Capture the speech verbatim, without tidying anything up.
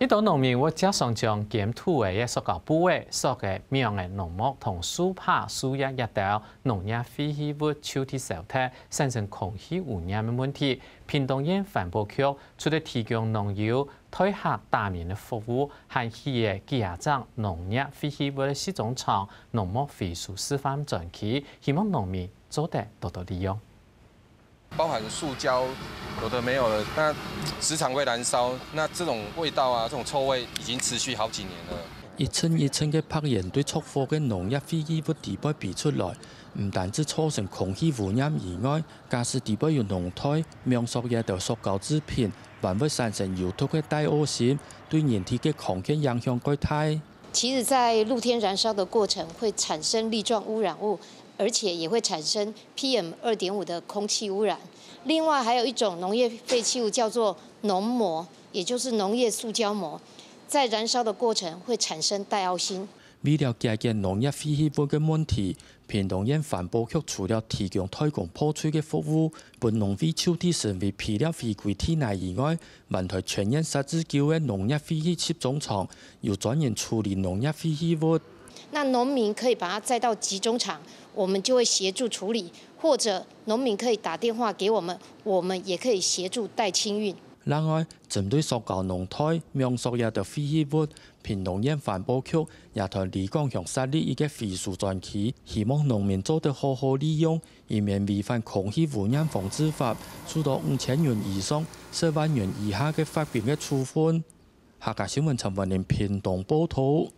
一兜農民會輒常將堅土仔、塑膠布仔、塑仔網仔、農膜同樹杷、樹葉這兜農業廢棄物就地燒忒，產生空氣污染个問題。屏東縣環保局除了提供農友代客打殯个服務，還起了幾下隻農業廢棄物个集中場、農膜回收示範專區，希望農民做得多多利用。 包含塑膠，有的没有的，那時常会燃烧，那这种味道啊，这种臭味已经持续好几年了。一層一層个白煙對著火个農業廢棄物底背飛出來，毋單止造成空氣污染以外，假使底背有農袋、網索這兜塑膠製品，還會產生有毒个大嗄辛，對人體个康健影響蓋大。其实，在露天燃烧的过程会产生粒状污染物，而且也会产生 P M 二点五的空气污染。另外，还有一种农业废弃物叫做农膜，也就是农业塑胶膜，在燃烧的过程会产生大奥辛。為了解決農業廢棄物个問題，屏東縣環保局除了提供代工破碎个服務，分農會就地成為肥料回歸地泥以外，還在全縣設置九个農業廢棄集中場，有專人處理農業廢棄物。那农民可以把它载到集中场，我们就会协助处理，或者农民可以打电话给我们，我们也可以协助代清运。另外，針對塑膠農袋、網索這兜廢棄物，屏東縣環保局也在里港鄉設立一个回收專區，希望農民做得好好利用，以免違反空氣污染防治法，受到五千元以上、十萬元以下个罰金个處分。客家新聞陳文玲屏東報導。